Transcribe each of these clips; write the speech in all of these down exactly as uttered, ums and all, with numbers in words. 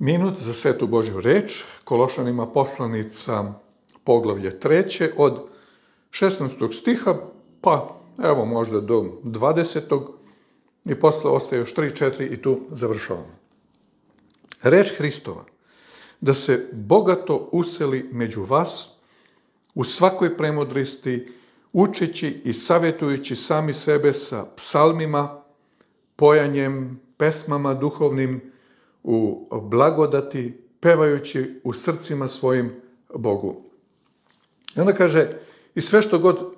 Minut za svetu Božju reč, Kološanima poslanica poglavlje treće od šesnaestog stiha, pa evo možda do dvadesetog i posle ostaje još tri četiri i tu završavamo. Reč Hristova, da se bogato useli među vas u svakoj premudrosti, učeći i savjetujući sami sebe sa psalmima, pojanjem, pesmama duhovnim, u blagodati, pevajući u srcima svojim Bogu. I onda kaže, i sve što god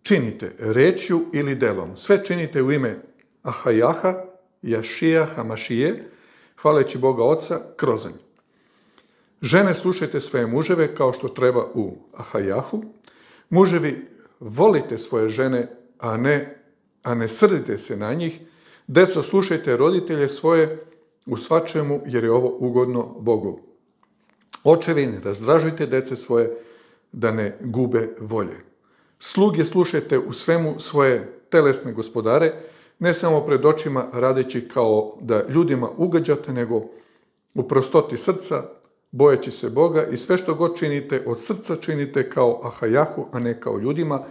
činite, rečju ili delom, sve činite u ime Ahajaha, Jašija, Hamašije, hvaleći Boga Oca, krozanj. Žene, slušajte svoje muževe kao što treba u Ahajahu. Muževi, volite svoje žene, a ne, a ne srdite se na njih. Deco, slušajte roditelje svoje u svačemu, jer je ovo ugodno Bogu. Očevi, ne razdražujte dece svoje, da ne gube volje. Sluge, slušajte u svemu svoje telesne gospodare, ne samo pred očima radeći kao da ljudima ugađate, nego u prostoti srca, bojeći se Boga, i sve što god činite, od srca činite kao Ahajahu, a ne kao ljudima,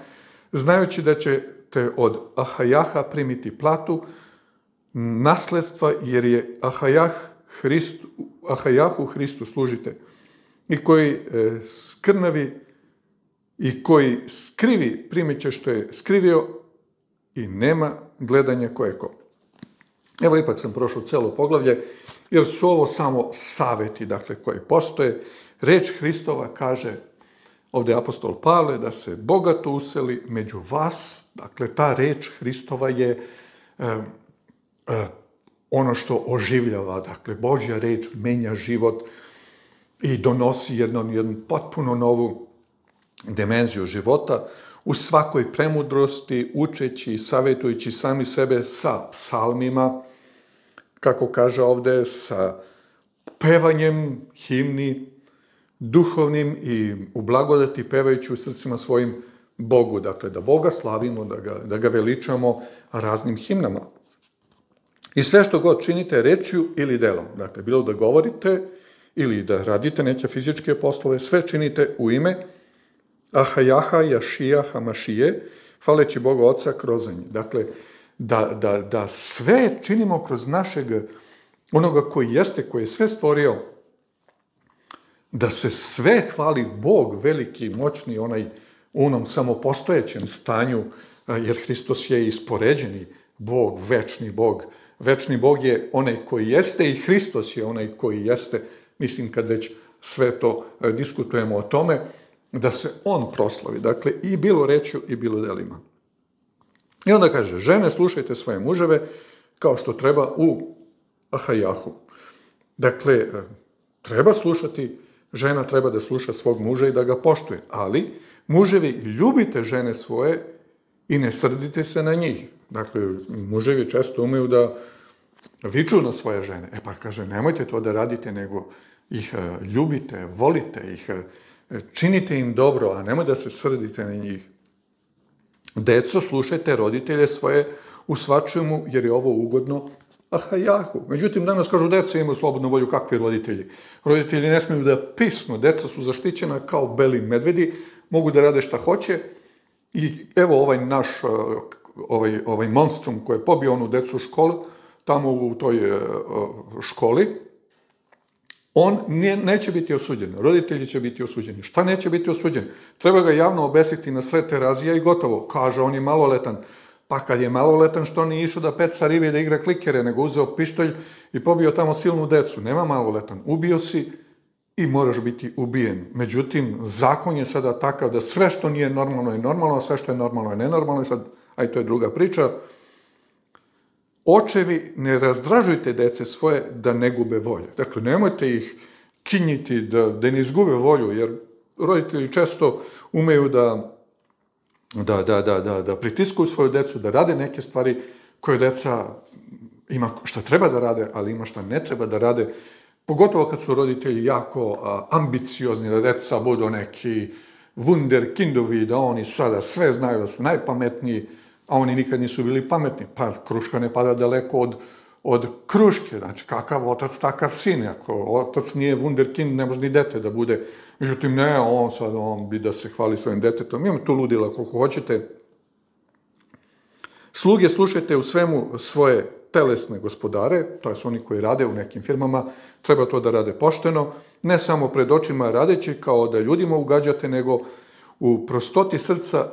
znajući da ćete od Ahajaha primiti platu, nasledstva, jer je Ahajah Hristu, Ahajahu Hristu služite, i koji e, skrnavi i koji skrivi primit će što je skrivio i nema gledanja ko je ko. Evo, ipak sam prošao celo poglavlje, jer su ovo samo saveti, dakle, koji postoje. Reč Hristova kaže, ovdje apostol Pavle, da se bogato useli među vas. Dakle, ta reč Hristova je e, e, ono što oživljava. Dakle, Božja reč menja život i donosi jednu, jednu potpuno novu dimenziju života, u svakoj premudrosti, učeći i savjetujući sami sebe sa psalmima, kako kaže ovdje, sa pevanjem himni, duhovnim i u blagodati pevajući u srcima svojim Bogu. Dakle, da Boga slavimo, da ga, da ga veličamo raznim himnama. I sve što god činite rečju ili delom, dakle, bilo da govorite ili da radite neke fizičke poslove, sve činite u ime Ahajaha, Jašija, Hamašije, hvaleći Boga Oca, krozanj. Dakle, da, da, da sve činimo kroz našeg onoga koji jeste, koji je sve stvorio, da se sve hvali Bog, veliki, moćni, onaj u onom samopostojećem stanju, jer Hristos je ispoređeni Bog, večni Bog. Večni Bog je onaj koji jeste i Hristos je onaj koji jeste. Mislim, kad već sve to diskutujemo o tome, da se on proslavi. Dakle, i bilo rečju i bilo delima. I onda kaže, žene, slušajte svoje muževe kao što treba u Ahajahu. Dakle, treba slušati, žena treba da sluša svog muža i da ga poštuje, ali muževi, ljubite žene svoje i ne srdite se na njih. Dakle, muževi često umeju da viču na svoje žene. E pa kaže, nemojte to da radite, nego ih ljubite, volite ih, činite im dobro, a nemoj da se srdite na njih. Deco, slušajte roditelje svoje u svačemu, jer je ovo ugodno Ahajahu. Međutim, danas kažu, deca imaju slobodnu volju. Kakvi roditelji? Roditelji ne smiju da pisnu, deca su zaštićena kao beli medvedi, mogu da rade šta hoće. I evo ovaj naš, ovaj, ovaj monstrum koji je pobio onu decu u školu, tamo u toj školi, on nije, neće biti osuđen, roditelji će biti osuđeni. Šta neće biti osuđen? Treba ga javno obesiti na sred terazija i gotovo. Kaže, on je maloletan. Pa kad je maloletan, što nije išao da peca ribe i da igra klikere, nego uzeo pištolj i pobio tamo silnu decu. Nema maloletan. Ubio si i moraš biti ubijen. Međutim, zakon je sada takav da sve što nije normalno je normalno, a sve što je normalno je nenormalno. Sad, aj to je druga priča. Očevi, ne razdražujte dece svoje da ne gube volje. Dakle, nemojte ih kinjiti da, da ne izgube volju, jer roditelji često umeju da, da, da, da, da, da pritiskuju svoju decu, da rade neke stvari koje deca ima šta treba da rade, ali ima šta ne treba da rade. Pogotovo kad su roditelji jako a, ambiciozni, da deca budu neki wunderkindovi, da oni sada sve znaju, da su najpametniji, a oni nikad nisu bili pametni. Pa kruška ne pada daleko od od kruške, znači kakav otac, takav sin. Ako otac nije wunderkind, ne može ni dete da bude. Međutim, ne, on sad, on bi da se hvali svojim detetom. Imam tu ludila koliko hoćete. Sluge, slušajte u svemu svoje telesne gospodare, to su oni koji rade u nekim firmama, treba to da rade pošteno, ne samo pred očima radeći kao da ljudima ugađate, nego u prostoti srca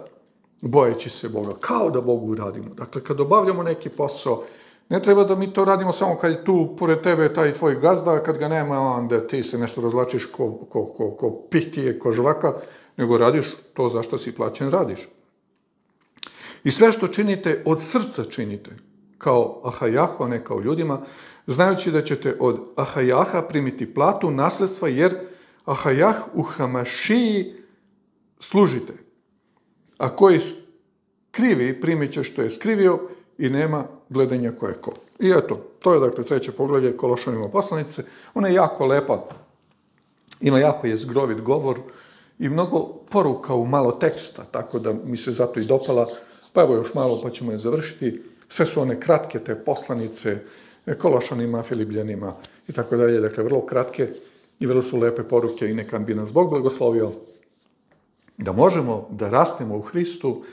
bojeći se Boga, kao da Bogu radimo. Dakle, kad obavljamo neki posao, ne treba da mi to radimo samo kad je tu pored tebe taj tvoj gazda, kad ga nema, onda ti se nešto razlačiš ko, ko, ko, ko pihtije, ko žvaka, nego radiš to za što si plaćen, radiš. I sve što činite, od srca činite, kao Ahajahu, a ne kao ljudima, znajući da ćete od Ahajaha primiti platu nasledstva, jer Ahajah u Hamašiji služite. A koji skrivi, primit će što je skrivio i nema gledanja ko je ko. I eto, to je dakle treće poglavlje Kološanima poslanice. Ona je jako lepa, ima jako jezgrovit govor i mnogo poruka u malo teksta, tako da mi se zato i dopala. Pa evo još malo pa ćemo je završiti. Sve su one kratke te poslanice, Kološanima, Filipljanima i tako dalje. Dakle, vrlo kratke i vrlo su lepe poruke i neka bi nas Bog blagoslovio da možemo da rastemo u Hristu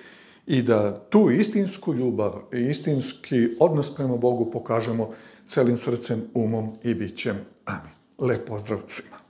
i da tu istinsku ljubav i istinski odnos prema Bogu pokažemo celim srcem, umom i bićem. Amin. Lep pozdrav svima.